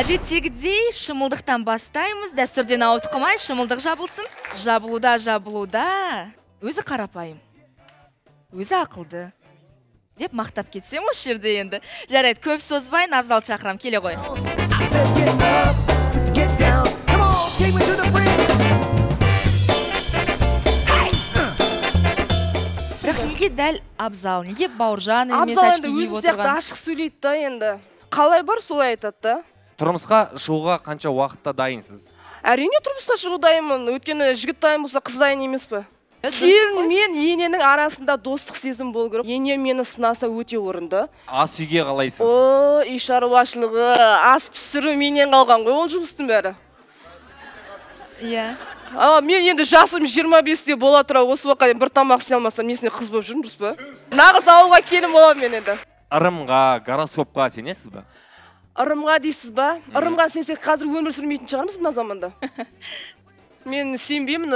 Әдеттегідей шымылдықтан бастаймыз, дәстүрден ауытқымай шымылдық жабылсын. Жабылуда. Өзі қарапайым, өзі ақылды деп мақтап кетсем осы жерде енді. Жарайды, көп созбай, Абзал шақырам, келе ғой. Бірақ неге дәл Абзал, неге Бауыржан емес ашки киіп отырған? Абзал енді өзім сияқты ашық сөйлейді да енді. Қалай бар, солай айтады да. Тұрмысқа шығуға қанша уақытта дайынсыз? Әрине тұрмысқа шығу дайынмын. Өйткені жігіт дайын болса, қыз дайын емес пе? Келін мен ененің арасында достық сезім болу керек. Ене мені сынаса өте орынды. Ас үйге қалайсыз? О, үй шаруашылығы, ас пісіру менен қалған ғой, ол жұмыстың бәрі. Иә. Мен енді жасым 25-те бола тұра, осы уақытқа дейін бір тамақ істей алмасам, несіне қыз болып жүрмін, дұрыс па? Нағыз ауылға келін боламын мен енді. Ырымға, гороскопқа сенесіз бе? Ырымға дейсіз ба? Ырымға сенсек қазір өмір сүрмейтін шығармыз мына заманда. Мен сенбеймін,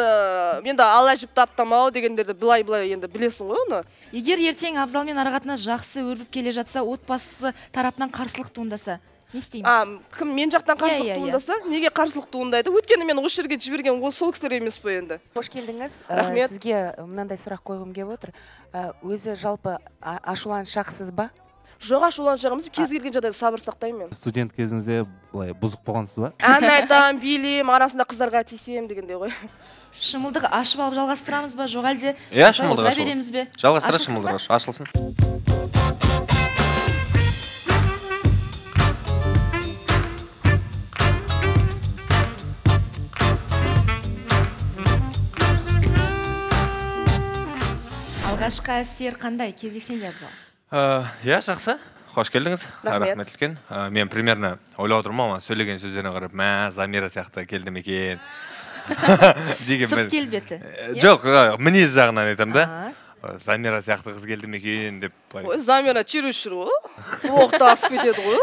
енді Алла жіп таптамау дегендерді былай енді білесің ғой оны. Егер ертең Абзалмен арақатынас жақсы өрбіп келе жатса, отбасы тарапынан қарсылық туындаса, не істейміз? Кім мен жақтан қарсылық туындаса? Неге қарсылық туындайды? Өйткені мен осы жерге жіберген сол кісілер емес пе енді? Қош келдіңіз. Рахмет. Сізге мынандай сұрақ қойғым келіп отыр. Өзі жалпы ашуланшақсыз ба? Жоқ, ашуланшағымыз, кез келген жағдайда сабыр сақтаймын мен. Студент кезіңізде былай бұзық болғансыз ба? Ән айтам, билейм, арасында қыздарға тиісем дегенде ғой. Шымылдық ашып алып жалғастырамыз ба, жоқ әлде? Иә, шымылдық ашып. Береміз бе? Жалғастыра шымылдық ашылсын. Алғашқы әсер қандай? Кезексен де Абзал. Иә, жақсы. Қош келдіңіз. Рахмет үлкен. Мен примерно ойлап отырмын, сөйлеген сөздеріне қарап, Замира сияқты келдім екен. Сырт келбеті. Жоқ, мінез жағынан айтам да. Замира сияқты қыз келдім екен деп. Ой, Замира чересчур ғой. Оқты асып кетеді ғой.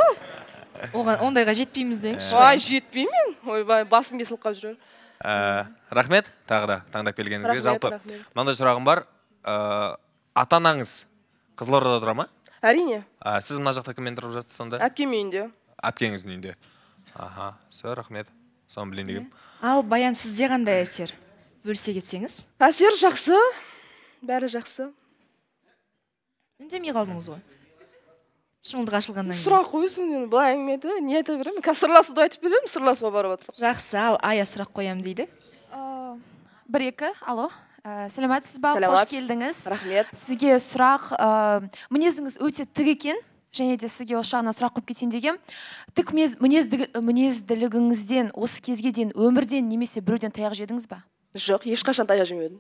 Оған ондайға жетпейміз дейінші. Ай, жетпеймін. Ойбай, басым кесіліп қалып жүрер. Рахмет, тағы да таңдап келгеніңізге. Жалпы, мынандай сұрағым бар. Ата-анаңыз Қызылордада тұра ма? Әрине. Сіз мына жақта кіммен тұрып жатсыз сонда? Әпкем үйінде. Әпкеңіздің үйінде. Все, рахмет. Соны білейін дегем. Ал Баян, сізде қандай әсер? Бөлісе кетсеңіз? Әсер жақсы. Бәрі жақсы. Үндемей қалдыңыз ғой. Шымылдық ашылғаннан кейін. Сұрақ қойсын, былай әңгімеді. Не айта беремін? Қазір сырласуды айтып беремін, сырласуға барып жатсам. Жақсы, ал Ая сұрақ қоям дейді. 1-2, алло. Сәлеметсіз ба? Қош келдіңіз. Рахмет. Сізге сұрақ, мінезіңіз өте тік екен, және де сізге осы жағынан сұрақ қойып кетейін дегем. Тік мінезділігіңізден осы кезге дейін өмірден немесе біреуден таяқ жедіңіз ба? Жоқ, ешқашан таяқ жемедім.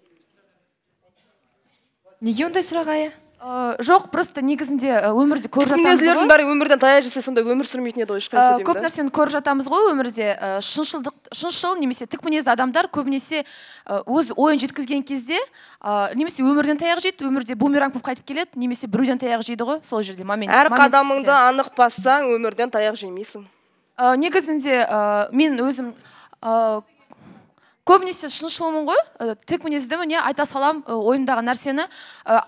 Неге ондай сұрақ, Ая? Жоқ, просто негізінде өмірде көріп жатамыз ғой. Мінезділердің бәрі өмірден таяқ жесе, сонда өмір сүрмейтін еді ғой, ешқайсы деймін да. Көп нәрсені көріп жатамыз ғой өмірде. Шыншыл немесе тік мінезді адамдар көбінесе өз ойын жеткізген кезде немесе өмірден таяқ жейді, өмірде бумеранг болып қайтып келеді, немесе біреуден таяқ жейді ғой, сол жерде момент. Әр қадамыңды анық бассаң, өмірден таяқ жемейсің. Негізінде мен өзім көбінесе шыншылмын ғой, тік мінезді міне айта салам ойымдағы нәрсені.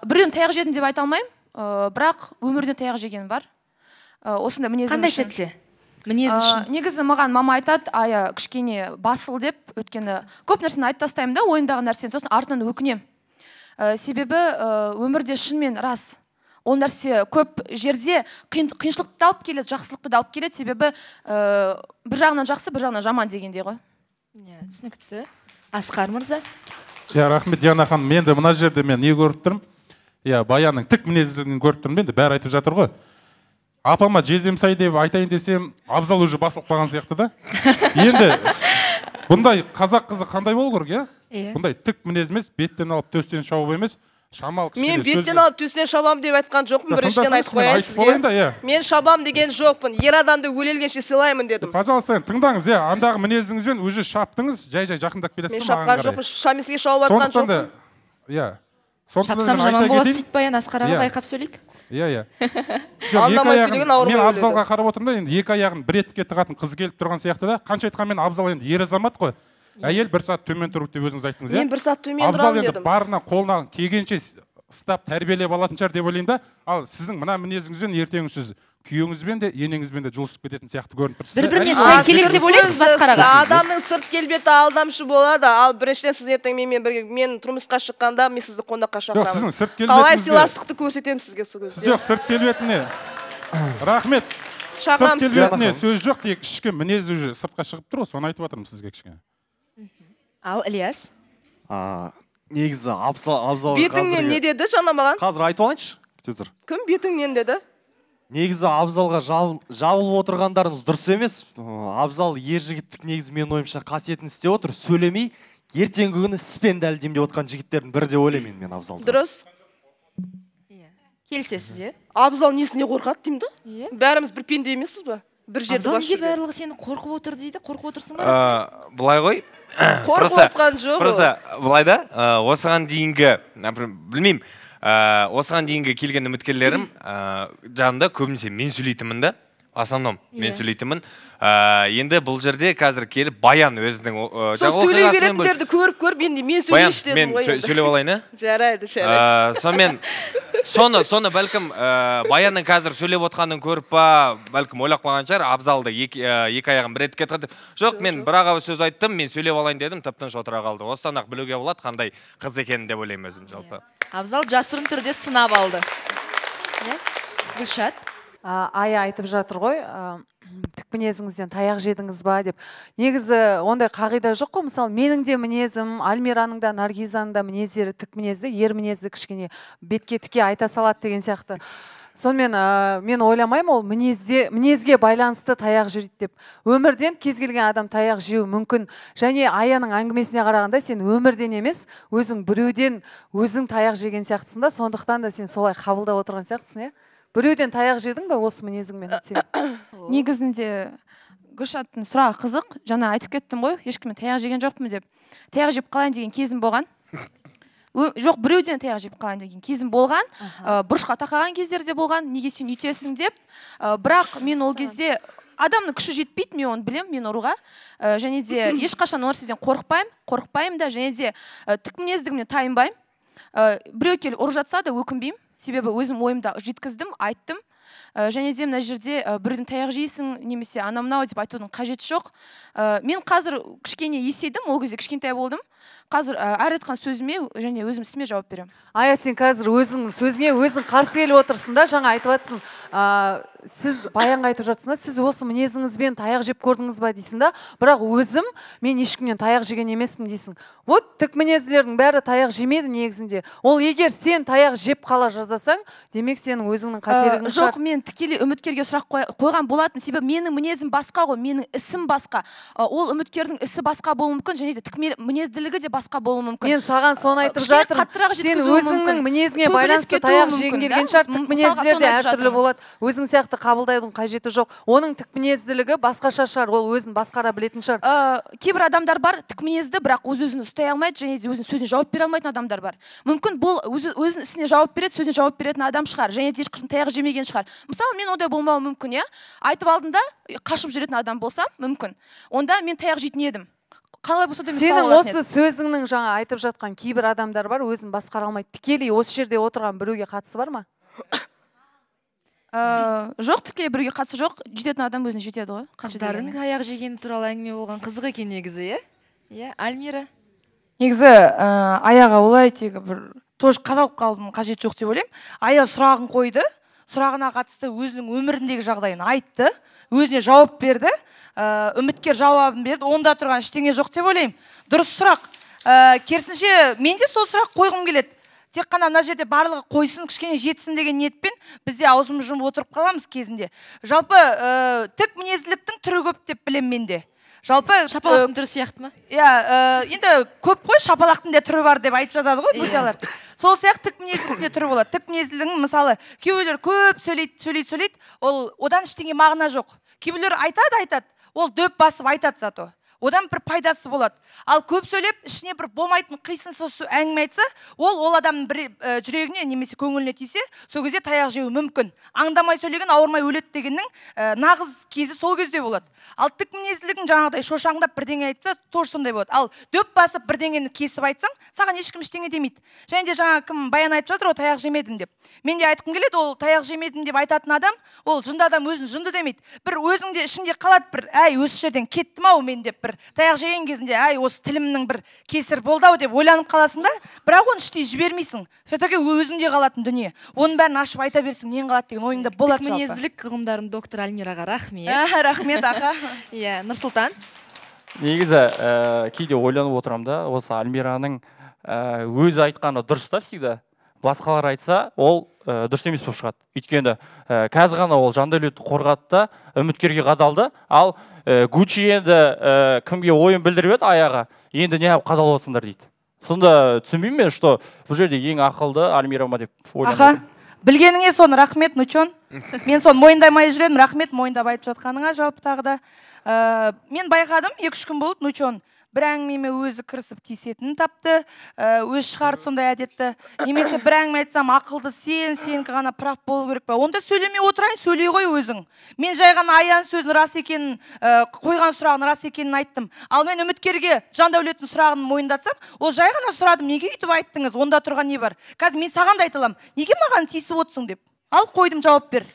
Біреуден таяқ жедім деп айта алмаймын, бірақ өмірден таяқ жеген бар. Осында мінезім үшін. Қандай сәтте? Мінез үшін? Негізі маған мама айтады, Ая кішкене басыл деп, өткені көп нәрсені айтып тастаймын да, ойындағы нәрсені, сосын артынан өкінем. Себебі өмірде шынымен рас. Ол нәрсе көп жерде қиыншылықты алып келеді, жақсылықты алып келеді, себебі бір жағынан жақсы, бір жағынан жаман дегенде ғой. Түсінікті. Асқар мырза. Рахмет, Диана ханым, мен де мына жерде мен не көріп тұрмын? Баянның тік мінезділігін көріп тұрмын, мен де бәрі айтып жатыр ғой. Апама жездем сай деп айтайын десем, Абзал уже басылып қалған сияқты да. Енді бұндай қазақ қызы қандай болу керек, Бұндай тік мінез емес, беттен алып төстен шауып емес. Мен беттен алып төстен шабам деп айтқан жоқпын, біріншіден айтып қояйын сізге. Мен шабам деген жоқпын, ер адамды өлелгенше сыйлаймын дедім. Пожалуйста, тыңдаңыз, андағы мінезіңізбен уже шаптыңыз, жай-жай жақындап келесіз. Мен шапқан жоқпын, шамесіге шауып атқан жоқпын. Шапсам жаман болады дейді Баян, Асқар аға байқап сөйлейік. Мен Абзалға қарап отырмын да, енді екі аяғын бір етікке тығатын қыз келіп тұрған сияқты да, қанша айтқанмен Абзал енді ер азамат қой. Әйел бір сағат төмен тұрып деп өзіңіз айттыңыз, Мен бір сағат төмен тұрамын дедім. Абзал енді барынан қолынан келгенше ұстап тәрбиелеп алатын шығар деп ойлаймын да. Ал сіздің мына мінезіңізбен ертең сіз күйеуіңізбен де енеңізбен де жұлысып кететін сияқты көрініп тұр. Бір-біріне сай келеді деп ойлайсыз басқараға? Адамның сырт келбеті алдамшы болады, ал біріншіден сіз ертең менімен бірге мен тұрмысқа шыққанда мен сізді қонаққа Жоқ, сіздің шақырамын. сырт келбетіңізге. Қалай сыйластықты көрсетемін сізге сол кезде. Жоқ, сырт келбетіне. Рахмет. Сырт келбетіне сөз жоқ, тек ішкі мінез уже сыртқа шығып тұр, соны айтып жатырмын сізге кішкене. Ал Ильяс? Негізі абзал бетіңнен не деді жаңа маған? Қазір айтып алайыншы. Күте тұр. Кім бетіңнен деді? Негізі абзалға жабылып отырғандарыңыз дұрыс емес. Абзал ер жігіттік негізі мен ойымша қасиетін істеп отыр. Сөйлемей, ертеңгі күні іспен дәлелдемей отқан жігіттердің бірі деп ойлаймын мен абзалды. Дұрыс. Келісесіз, е? Абзал несіне қорқады деймін да? Иә. Бәріміз бір пенде емеспіз ба? Бір жерді Абзал басып неге жүрген. барлығы сені қорқып отыр дейді? Қорқып отырсың ба? Былай ғой. Қорқып отқан жоқ. Просто былай да, осыған дейінгі, білмеймін, осыған дейінгі келген үміткерлерім жанында көбінесе мен сөйлейтінмін да, основном мен сөйлейтінмін. Енді бұл жерде қазір келіп Баян өзінің сол сөйлей беретіндерді көріп енді мен сөйлейші дедім ғой. Баян, мен сөйлеп алайын, ә? Жарайды, жарайды. Соны бәлкім Баянның қазір сөйлеп отқанын көріп па, бәлкім ойлап қалған шығар, Абзалды екі аяғын бір етіп кетті. Жоқ, мен бір аға сөз айттым, мен сөйлеп алайын дедім, тып-тыныш отыра қалды. Осыдан ақ білуге болады қандай қыз екенін деп ойлаймын өзім жалпы. Абзал жасырын түрде сынап алды. Гүлшат? Ая айтып жатыр ғой, тік мінезіңізден таяқ жедіңіз ба деп. Негізі ондай қағида жоқ қой, мысалы менің де мінезім, Альмираның да, Наргизаның да мінездері тік мінезді, ер мінезді кішкене бетке тіке айта салады деген сияқты. Сонымен мен ойламаймын, ол мінезге байланысты таяқ жейді деп. Өмірден кез келген адам таяқ жеу мүмкін. Және Аяның әңгімесіне қарағанда сен өмірден емес, өзің біреуден өзің таяқ жеген сияқтысың да, сондықтан да сен солай қабылдап отырған сияқтысың, иә? Біреуден таяқ жедің ба осы мінезіңмен? Негізінде Гүлшаттың сұрағы қызық. Жаңа айтып кеттім ғой, ешкіммен таяқ жеген жоқпын деп. Таяқ жеп қалайын деген кезім болған. Жоқ, біреуден таяқ жеп қалайын деген кезім болған. Бұрышқа тақаған кездерде болған. Неге сен үйтесің деп. Бірақ мен ол кезде адамның күші жетпейді, мен оны білем, мен ұруға. Және де ешқашан ол нәрседен қорықпаймын да, және де тік мінездігімнен тайынбаймын. Біреу келіп ұрып жатса да өкінбеймін. Себебі өзім ойымда жеткіздім, айттым. Және де мына жерде біреуден таяқ жейсің, немесе анау-мынау деп айтудың қажеті жоқ. Мен қазір кішкене есейдім, ол кезде кішкентай болдым. Қазір әр айтқан сөзіме және өзім ісіме жауап беремін. Ая, сен қазір өзің сөзіне өзің қарсы келіп отырсың да, жаңа айтып жатсың. Сіз Баянға айтып жатсың да, сіз осы мінезіңізбен таяқ жеп көрдіңіз ба дейсің да, бірақ өзім мен ешкімнен таяқ жеген емеспін дейсің. Вот тік мінезділердің бәрі таяқ жемейді негізінде. Ол егер сен таяқ жеп қала жазасаң, демек сенің өзіңнің қателігің шығар. Жоқ, мен тікелей үміткерге сұрақ қойған болатын, себебі менің мінезім басқа ғой, менің ісім басқа. Ол үміткердің ісі басқа болуы мүмкін, және де тік мінезділігі де басқа болуы мүмкін. Мен саған соны айтып жатырмын. Сен өзіңнің мінезіңе байланысты таяқ жеген келген шығар, тік мінезділер де әртүрлі болады. Өзің сияқты қабылдайдың қажеті жоқ. Оның тік мінезділігі басқаша шығар, ол өзін басқара білетін шығар. Кейбір адамдар бар, тік мінезді, бірақ өзін ұстай алмайды, және де өзінің сөзіне жауап бере алмайтын адамдар бар. Мүмкін бұл өзінің ісіне жауап береді, сөзіне жауап беретін адам шығар, және де ешқашан таяқ жемеген шығар. Мысалы, мен ондай болмауы мүмкін, иә. Айтып алдында қашып жүретін адам болсам, мүмкін. Онда мен таяқ жейтін едім. Қалай болса да мен сенің осы сөзіңнің жаңа айтып жатқан кейбір адамдар бар, өзін басқара алмайды. Тікелей осы жерде отырған біреуге қатысы бар ма? Жоқ, тікелей біреуге қатысы жоқ. Жететін адам өзіне жетеді ғой. Қыздардың таяқ жегені туралы әңгіме болған қызық екен негізі, иә? Иә, Альмира. Негізі Аяға олай тегі бір тоже қадалып қалдым, қажет жоқ деп ойлаймын. Ая сұрағын қойды, сұрағына қатысты өзінің өміріндегі жағдайын айтты, өзіне жауап берді, үміткер жауабын берді, онда тұрған ештеңе жоқ деп ойлаймын. Дұрыс сұрақ. Керісінше мен де сол сұрақ қойғым келеді. Тек қана мына жерде барлығы қойсын, кішкене жетсін деген ниетпен бізде аузымыз жұмып отырып қаламыз кезінде. Жалпы тік мінезділіктің түрі көп деп білемін менде. Жалпы шапалақтың түрі сияқты ма? Иә, енді көп қой, шапалақтың да түрі бар деп айтып жатады ғой бөтелер. Сол сияқты тік мінезділіктің де түрі болады. Тік мінезділігінің мысалы кейбіреулер көп сөйлейді, ол одан ештеңе мағына жоқ. Кейбіреулер айтады, ол дөп басып айтады зато. одан бір пайдасы болады. Ал көп сөйлеп, ішіне бір болмайтын қисынсыз әңгіме айтса, ол адамның бір жүрегіне немесе көңіліне тисе, сол кезде таяқ жеуі мүмкін. Аңдамай сөйлеген ауырмай өледі дегеннің нағыз кезі сол кезде болады. Ал тік мінезділігің жаңағыдай шошаңдап бірдеңе айтса, тоже сондай болады. Ал дөп басып бірдеңені кесіп айтсаң, саған ешкім ештеңе демейді. Және де жаңа кім баян айтып жатыр, ол таяқ жемедім деп. Мен де айтқым келеді, ол таяқ жемедім деп айтатын адам, ол жынды адам өзін жынды демейді. Бір өзіңде ішінде қалады бір, әй, осы жерден кеттім-ау мен деп, бір таяқ жеген кезінде, әй, осы тілімнің бір кесір болды-ау деп ойланып қаласың да, бірақ оны іштей жібермейсің. Все-таки өзіңде қалатын дүние. Оның бәрін ашып айта берсең, нең қалады деген ойыңда болады жалпы. Мінезділік ғылымдарының доктор Альмираға рахмет. Рахмет, аға. Иә, Нұрсұлтан. Негізі кейде ойланып отырам да, осы Альмираның өзі айтқаны дұрыс та всегда. Басқалар айтса, ол дұрыс емес болып шығады. Өйткені қазір ғана ол Жандәулетті қорғады да, үміткерге қадалды. Ал Гуччи енді кімге ойын білдіріп еді аяға, енді не қадалып отырсыңдар дейді. Сонда түсінбеймін мен, что бұл жерде ең ақылды Альмира ма деп ойланып. Білгеніңе соны рахмет, Нучон. Мен соны мойындамай жүремін, рахмет мойындап айтып жатқаныңа жалпы тағы да. Мен байқадым, 2-3 күн болды, Нучон бір әңгімеме өзі кірісіп тиісетінін тапты, өз шығарды сондай әдетті. Немесе бір әңгіме айтсам, ақылды сенікі ғана прав болу керек па. Онда сөйлемей отырайын, сөйлей ғой өзің. Мен жай ғана аян сөзін рас екенін, қойған сұрағын рас екенін айттым. Ал мен үміткерге Жандәулеттің сұрағын мойындатсам, ол жай ғана сұрадым, неге үйтіп айттыңыз, онда тұрған не бар? Қазір мен саған да айта аламын, неге маған тиісіп отырсың деп. Ал қойдым, жауап бер.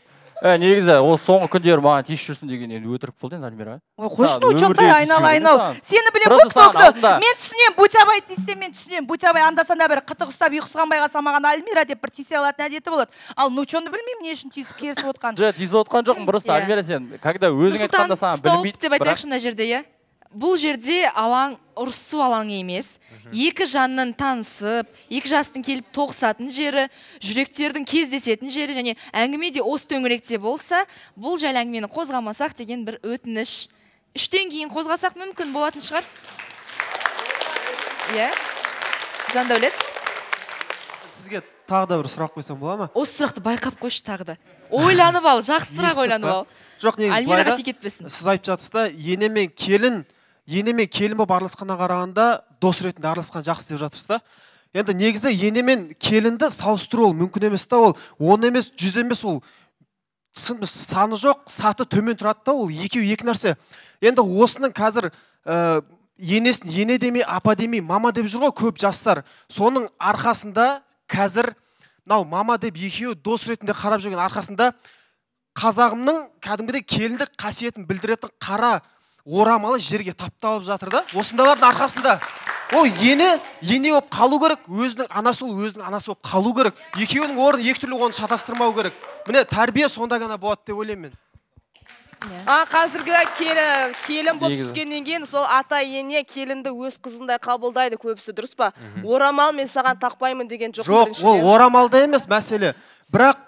Негізі, ол соңғы күндері маған тиісіп жүрсін деген енді өтірік болды енді Альмира. Қойшын Учонтай айнал. Сені білем көк-көкті. Мен түсінем, Бутябай тиіссе мен түсінем. Бутябай андасанда бір қытық ұстап ұйқысыған байға маған Альмира деп бір тиісе алатын әдеті болады. Ал Нучонды білмеймін не үшін тиісіп керісіп отқан. Тиісіп отқан жоқпын, просто Альмира сен, когда өзің айтқанда саған білмейді. Деп айтайықшы мына жерде, иә. Бұл жерде алаң ұрысу алаңы емес. Екі жанның танысып, екі жастың келіп тоғысатын жері, жүректердің кездесетін жері және әңгіме де осы төңіректе болса, бұл жайлы әңгімені қозғамасақ деген бір өтініш. 3-тен кейін қозғасақ мүмкін болатын шығар. Иә. Жандәулет. Сізге тағы да бір сұрақ қойсам бола ма? Осы сұрақты байқап қойшы тағы да. Ойланып ал, жақсырақ ойланып ал. Жоқ, негізі Альмираға тиіп кетпесін. Сіз айтып жатсыз да, ене мен келін болып араласқаннан қарағанда дос ретінде араласқан жақсы деп жатырсыз да. Енді негізі ене мен келінді салыстыру ол мүмкін емес та, ол 10 емес, 100 емес, ол саны жоқ, саты төмен тұрады да, ол екі нәрсе. Енді осының қазір енесін ене демей, апа демей, мама деп жүр ғой көп жастар. Соның арқасында қазір мама деп екеуі дос ретінде қарап жүрген арқасында қазағымның кәдімгідей келіндік қасиетін білдіретін қара орамалы жерге тапталып жатыр да. Осындалардың арқасында ол ене болып қалу керек, өзінің анасы болып қалу керек. Екеуінің орны екі түрлі, оны шатастырмау керек. Міне тәрбие сонда ғана болады деп ойлаймын мен. Қазіргі келін болып түскеннен кейін сол ата ене келінді өз қызындай қабылдайды көбісі, дұрыс па? Орамал мен саған тақпаймын деген жоқ. Жоқ, ол орамалда емес мәселе. Бірақ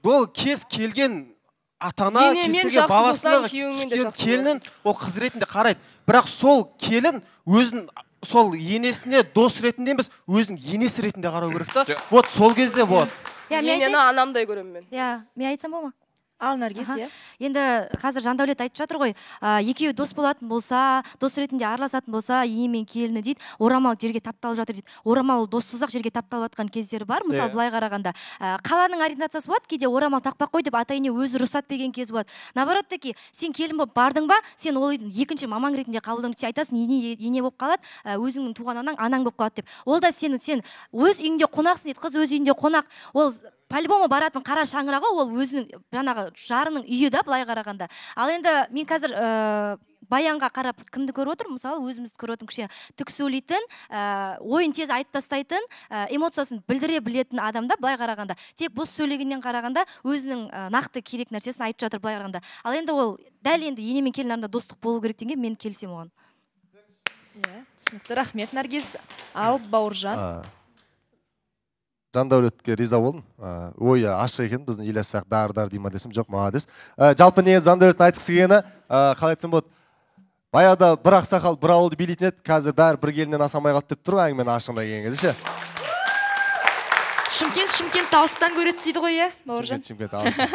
бұл кез келген атана, кез келген баласына келінін ол қыз ретінде қарайды. Бірақ сол келін өзін сол енесіне дос ретінде емес, өзінің енесі ретінде қарау керек та. Вот сол кезде болады. Енені анамдай көремін мен. Мен айтсам болма? Ал Наргиз, иә. Енді қазір Жандәулет айтып жатыр ғой, екеуі дос болатын болса, дос ретінде араласатын болса, ене мен келіні дейді, орамал жерге тапталып жатыр дейді. Орамал доссыз-ақ жерге тапталып жатқан кездері бар, мысалы былай қарағанда. Қаланың ориентациясы болады, кейде орамал тақпақ қой деп ата-ене өзі рұқсат берген кез болады. Наоборот таки, сен келін болып бардың ба, сен ол үйдің екінші мамаң ретінде қабылдың, айтасың, ене болып қалады, өзіңнің туған анаң болып қалады деп. Ол да сен өз үйіңде қонақсың дейді, қыз өз үйінде қонақ. Ол по-любому баратын қара шаңырағы ол өзінің жаңағы жарының үйі да былай қарағанда. Ал енді мен қазір баянға қарап кімді көріп отырмын? Мысалы өзімізді көріп отырмын, кішкене тік сөйлейтін, ойын тез айтып тастайтын, эмоциясын білдіре білетін адамда былай қарағанда. Тек бос сөйлегеннен қарағанда өзінің нақты керек нәрсесін айтып жатыр былай қарағанда. Ал енді ол дәл енді ене мен келін арасында достық болу керек деген мен келісемін оған. Иә, түсінікті. Рахмет, Наргиз. Ал Бауыржан. Жандәулетке риза болдым. Ойы ашық екен, біздің үйлесақ дар дейма десем, жоқ, молодец. Жалпы негізі Жандәулеттің айтқысы келгені, қалай айтсам болады, баяғыда бір ақсақал бір ауылды билейтін еді, қазір бәрі бір келіннен асамай қалды деп тұр, әңгімені ашығына келген кезде ше. Шымкент алыстан көреді дейді ғой, иә, Бауыржан? Шымкент алыстан.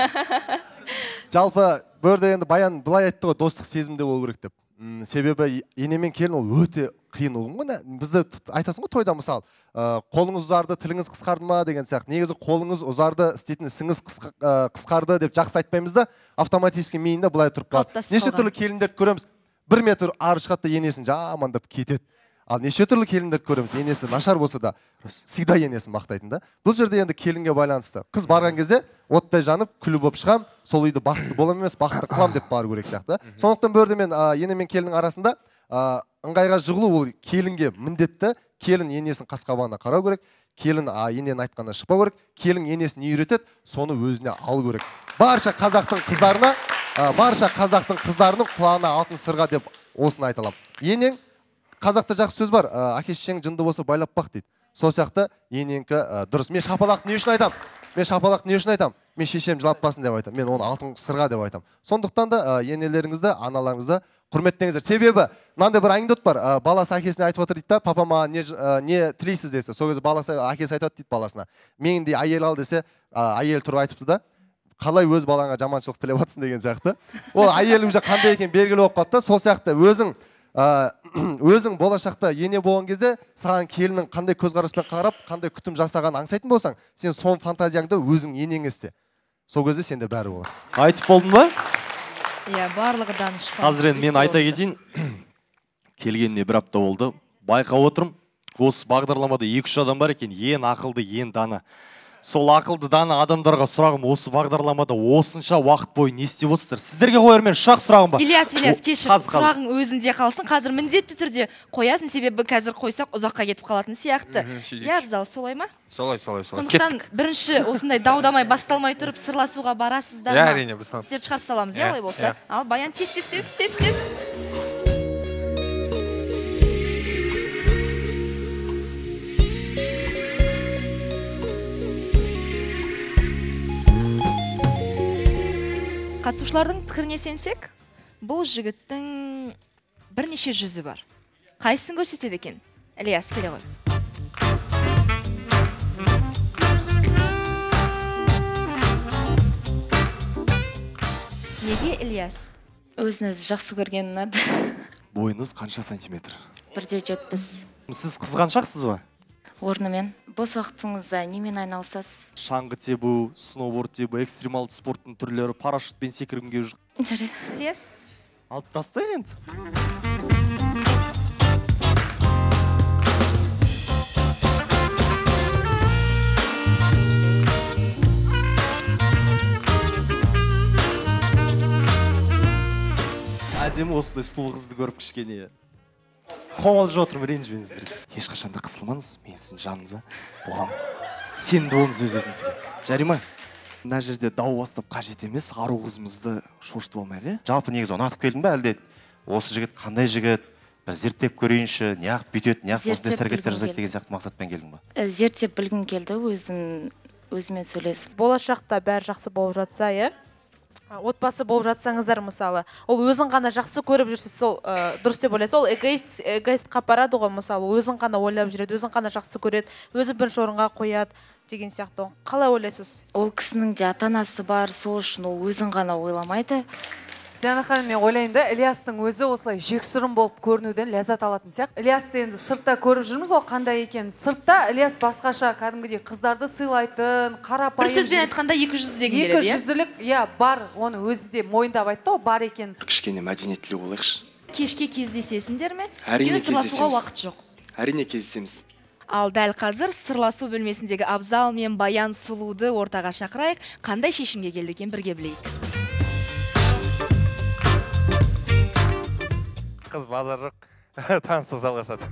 Жалпы бөрде енді баян былай айтты ғой, достық сезімде болу керек деп. Себебі ене мен келін ол өте қиын ұғым ғой. Бізді айтасың ғой тойда мысалы, қолыңыз ұзарды, тіліңіз қысқарды ма деген сияқты. Негізі қолыңыз ұзарды, істейтін ісіңіз қысқарды деп жақсы айтпаймыз да, автоматически миында былай тұрып қалады. Неше түрлі келіндерді көреміз, 1 метр ары шығады да енесін жамандап кетеді. Ал неше түрлі келіндерді көреміз, енесі нашар болса да, всегда енесін мақтайтын да. Бұл жерде енді келінге байланысты. Қыз барған кезде оттай жанып, күлі болып шығам, сол үйді бақытты болам емес, бақытты қылам деп бару керек сияқты. Сондықтан бөрді мен ене мен келіннің арасында ыңғайға жығылу ол келінге міндетті. Келін енесін қас-қабағына қарау керек, келін ененің айтқанынан шықпау керек, келін енесін не үйретеді, соны өзіне алу керек. Барша қазақтың қыздарының құлағына алтын сырға деп осыны айта аламын. Енең қазақта жақсы сөз бар, әке-шешең жынды болса байлап бақ дейді. Сол сияқты енеңкі дұрыс. Мен шапалақты не үшін айтам? Мен шешем жылатпасын деп айтам. Мен оны алтын сырға деп айтам. Сондықтан да енелеріңізді, аналарыңызды құрметтеңіздер. Себебі мынандай бір анекдот бар. Баласы әкесіне айтып отыр дейді, папама не тілейсіз десе. Сол кезде баласы әкесі айтады дейді баласына. Мендей әйел ал десе, әйел тұрып айтыпты да, қалай өз балаңа жаманшылық тілеп жатсың деген сияқты. Ол әйел уже қандай екен белгілі болып қалды да, сол сияқты өзің болашақта ене болған кезде саған келінің қандай көзқараспен қарап, қандай күтім жасаған аңсайтын болсаң, сен сон фантазияңды өзің енең істе. Сол кезде сенде бәрі болады. Айтып болдың ба? Иә, барлығы данышпан. Қазір енді мен айта кетейін. Келгеніне 1 апта болды. Байқап отырмын. Осы бағдарламада 2-3 адам бар екен, ең ақылды, ең дана. Сол ақылды дана адамдарға сұрағым, осы бағдарламада осынша уақыт бойы не істеп отырсыздар? Сіздерге қояр мен шақ сұрағым бар. Ильяс, кешір, сұрағың өзінде қалсын. Қазір міндетті түрде қоясың, себебі қазір қойсақ ұзаққа кетіп қалатын сияқты. Иә, Абзал, солай ма? Солай. Сондықтан бірінші осындай даудамай басталмай тұрып сырласуға барасыздар ма? Иә, әрине, біз. Сіздерді шығарып саламыз, иә, олай болса. Ал Баян тез. Қатысушылардың пікіріне сенсек, бұл жігіттің бірнеше жүзі бар. Қайсысын көрсетеді екен? Ильяс, келе ғой. Неге Ильяс? Өзіңіз жақсы көрген ұнады. Бойыңыз қанша сантиметр? 1.70. Сіз қызғаншақсыз ба? Орнымен. Бос уақытыңызда немен айналысасыз? Шаңғы тебу, сноуборд тебу, экстремалды спорттың түрлері, парашютпен секіргенге жүр. Жарайды. Ильяс? Алып тастай енді. Әдемі осындай сұлу қызды көріп кішкене қомалжып отырмын, ренжімеңіздер. Ешқашанда қысылмаңыз, мен сіздің жаныңызда боламын. Сенімді болыңыз өз-өзіңізге. Жарай ма? Мына жерде дау бастап қажет емес, ару қызымызды шошытып алмайық, Жалпы негізі ұнатып келдің ба, әлде осы жігіт қандай жігіт, бір зерттеп көрейінші, неғып бүйтеді, неғып осындай іс-әрекеттер жасайды деген сияқты мақсатпен келдің ба? Зерттеп білгім келді, өзімен сөйлесіп. Болашақта бәрі жақсы болып жатса, отбасы болып жатсаңыздар мысалы, ол өзің ғана жақсы көріп жүрсе, сол дұрыс деп ойлайсыз. Ол эгоистқа апарады ғой, мысалы, өзің ғана ойлап жүреді, өзің ғана жақсы көреді, өзін бірінші орынға қояды деген сияқты. Қалай ойлайсыз? Ол кісінің де ата-анасы бар, сол үшін ол өзін ғана ойламайды. Диана ханым, мен ойлайын да, Ильястың өзі осылай жексұрын болып көрінуден ләззат алатын сияқты. Ильясты енді сыртта көріп жүрміз, ол қандай екен. Сыртта Ильяс басқаша кәдімгідей қыздарды сыйлайтын, қарапайым. Бір сөзбен айтқанда 200 деген береді, иә? 200-лік, бар, оны өзі де мойындап айтты, бар екен. Кішкене мәдениеттілі болайықшы. Кешке кездесесіңдер ме? Әрине кездесеміз. Уақыт жоқ. Әрине кездесеміз. Ал дәл қазір сырласу бөлмесіндегі Абзал мен Баян Сұлуды ортаға шақырайық. Қандай шешімге келді екен, бірге білейік. Қыз базар жоқ, таныстық жалғасады.